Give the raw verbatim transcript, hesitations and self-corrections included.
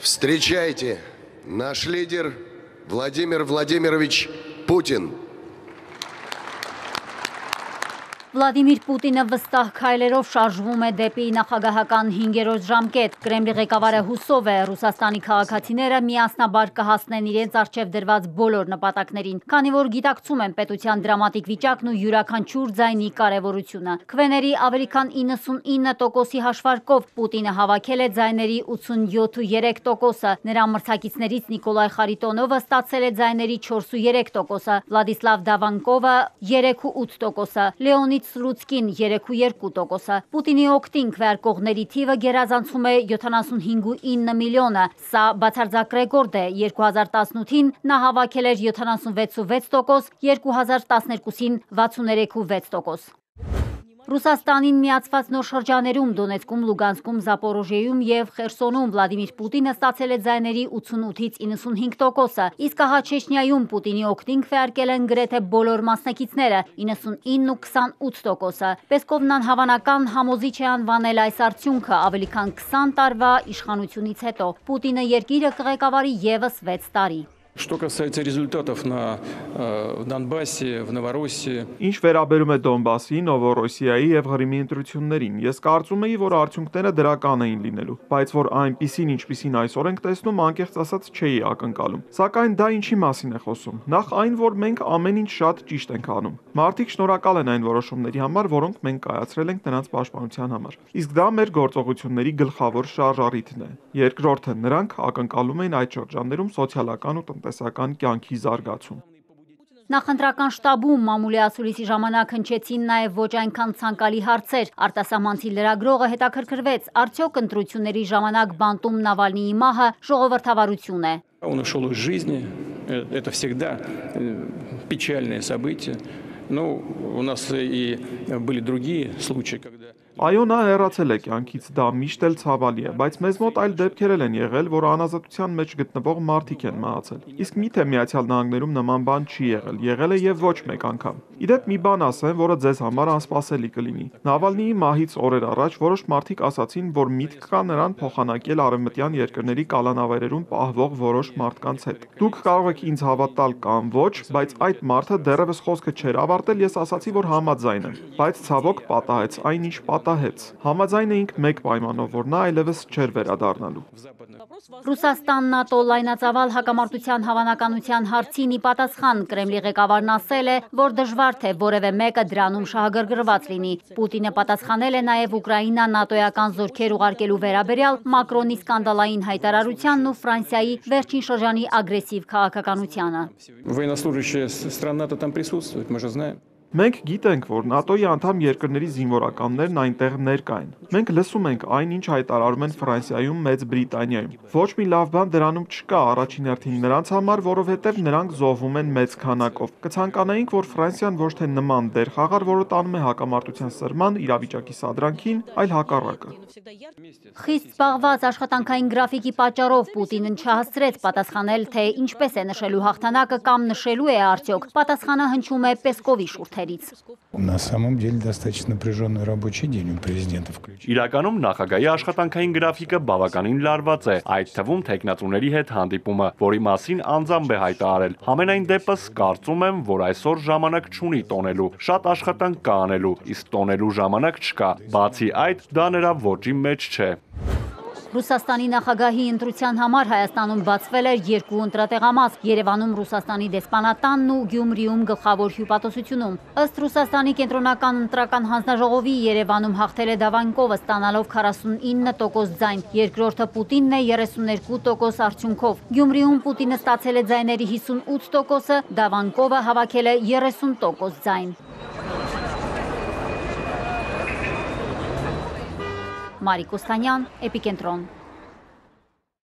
Встречайте, наш лидер Владимир Владимирович Путин. Վլադիմիր Պուտինը վստահ քայլերով շարժվում է դեպի նախագահական հինգերորդ ժամկետ։ Կրեմլի ղեկավարը հուսով է Ռուսաստանի քաղաքացիները միասնաբար կհասնեն իրենց առջև դրված բոլոր նպատակներին, քանի որ գիտակցում են պետության դրամատիկ վիճակն ու յուրաքանչյուր ձայնի կարևորությունը։ Քվեների ավելի քան իննսունինը տոկոսի հաշվարկով Պուտինը հավաքել է ձայների ութսունյոթ ու երեք տոկոսը։ Նրա մրցակիցներից Նիկոլայ Խարիտոնովը ստացել է ձայների չորս ու երեք տոկոսը, Վլադիսլավ Դավանկովը երեք ու ութ տոկոսը, Լեոնիդ Սլուցկին երեք ու երկու տոկոսը։ Պուտինի օգտին քվեարկողների թիվը գերազանցում է յոթանասունհինգ ու ինը միլիոնը։ Սա բացարձակ ռեկորդ է։ երկու հազար տասնութին նա հավաքել էր յոթանասունվեց ու վեց տոկոս, երկու հազար տասներկուսին վաթսուներեք ու վեց տոկոս։ Ռուսաստանին միացված նոր շրջաներում Դոնեցկում, Լուգանսկում, Զապորոժիեում եւ Խերսոնում Վլադիմիր Պուտինը ստացել է ձայների ութսունութից իննսունհինգ տոկոսը, իսկ ահա Չեչնիայում Պուտինի օգտին քվեարկել են գրեթե բոլոր մասնակիցները՝ իննսունինը ու քսանութ տոկոսը։ Պեսկովն անհավանական համոզիչ է անվանել այս արդյունքը ավելի քան քսան տարվա իշխանությունից հետո։ Պուտինը երկիրը կղեկավարի եւս վեց տարի։ Что касается результатов на э, в Донбассе, в Новороссии. Ինչ վերաբերում է Դոնբասի, Նովորոսիայի եւ Ղրիմի ընտրություններին, ես կարծում եի, որ արդյունքները դրական էին լինելու, բայց որ այնպիսին, ինչպիսին այսօր ենք տեսնում, անկեղծ ասած չէի ակնկալում։ Սակայն դա ինչի մասին է խոսում։ Նախ այն, որ մենք ամեն ինչ շատ ճիշտ ենք անում։ Մարդիկ շնորհակալ են այն որոշումների համար, որոնք մենք կայացրել ենք նրանց պաշտպանության համար։ Իսկ դա մեր գործողությունների գլխավոր շարժառիթն է։ Երկրորդը, նրանք ակնկալում էին այդ շրջաններում սոցիալական ու տնտեսական կյանքի զարգացում։ Նախընտրական շտաբում մամուլի ասուլիսի ժամանակ հնչեցին նաև ոչ այնքան ցանկալի հարցեր։ Արտասահմանցի լրագրողը հետաքրքրվեց, արդյոք ընտրությունների ժամանակ բանտում Նավալնիի մահը ժողովրդավարություն է։ Он ушел из жизни. Это всегда печальное событие. Ну, у нас и были другие случаи, когда Այո, նա հեռացել է կյանքից, դա միշտ էլ ցավալի է, բայց մեզ մոտ այլ դեպքեր են եղել, որ անազատության մեջ գտնվող մարդիկ են մահացել։ Իսկ միթե Միացյալ Նահանգներում նման բան չի եղել, եղել է եւ ոչ մեկ անգամ։ Իդեպ մի բան ասեմ, որը ձեզ համար անսպասելի կլինի։ Նավալնիի մահից օրեր առաջ որոշ մարդիկ ասացին, որ միտք կա նրան փոխանակել արևմտյան երկրների կալանավայրերում պահվող որոշ մարդկանց հետ։ Դուք կարող եք ինձ հավատալ կամ ոչ, բայց այդ մարդը դեռևս խոսքը չէր ավարտել, ես ասացի, որ համաձայն եմ, բայց ցավոք պատահեց այնինչ պատահեց։ Համաձայն էինք մեկ պայմանով, որ նա այլևս չէր վերադառնալու։ Ռուսաստան-ՆԱՏՕ լայնածավալ հակամարտության հավանականության հարցին ի պատասխան Կրեմլի ղեկավարն ասել է, որ դժվար թե որևէ մեկը դրանում շահագրգռված լինի։ Պուտինը պատասխանել է նաև Ուկրաինա նատոյական զորքեր ուղարկելու վերաբերյալ Մակրոնի սկանդալային հայտարարությանն ու Ֆրանսիայի վերջին շրջանի ագրեսիվ քաղաքականությանը։ Военнослужащая стран НАТО там присутствует, мы же знаем. Մենք գիտենք, որ ՆԱՏՕ-ի անդամ երկրների զինվորականներն այնտեղ ներկա են։ Մենք լսում ենք այն, ինչ հայտարարում են Ֆրանսիայում, Մեծ Բրիտանիայում։ Ոչ մի լավ բան դրանում չկա առաջին հերթին նրանց համար, որովհետև նրանք զոհվում են մեծ քանակով։ Կցանկանայինք, որ Ֆրանսիան ոչ թե նման դեր խաղար, որը տանում է հակամարտության սրման, իրավիճակի սադրանքին, այլ հակառակը։ Խիստ զբաղված աշխատանքային գրաֆիկի պատճառով Պուտինն չհասցրեց պատասխանել, թե ինչպես է նշելու հաղթանակը կամ նշելու է արդյոք։ Պատասխանը հնչում է Պեսկովի շուրթերից։ На самом деле достаточно напряженный рабочий день у президента включительно. Իրականում նախագահի աշխատանքային գրաֆիկը բավականին լարված է, այդ թվում տեխնատուների հետ հանդիպումը, որի մասին անձամբ է հայտարարել։ Համենայն դեպս կարծում եմ, որ այսօր ժամանակ չունի տոնելու, շատ աշխատանք կա անելու, իսկ տոնելու ժամանակ չկա։ Բացի այդ, դա նրա ոճի մեջ չէ։ Ռուսաստանի նախագահի ընտրության համար Հայաստանում բացվել էր երկու ընտրատեղամաս՝ Երևանում Ռուսաստանի դեսպանատանն ու Գյումրիում գլխավոր հյուպատոսությունում։ Ըստ Ռուսաստանի կենտրոնական ընտրական հանձնաժողովի Երևանում հաղթել է Դավանկովը, ստանալով քառասունինը տոկոս ձայն, երկրորդը Պուտինն է երեսուններկու տոկոս արդյունքով։ Գյումրիում Պուտինը ստացել է ձայների հիսունութ տոկոսը, Դավանկովը հավաքել է երեսուն տոկոս ձայն։ Մարիկ Օստանյան, Էպիկենտրոն։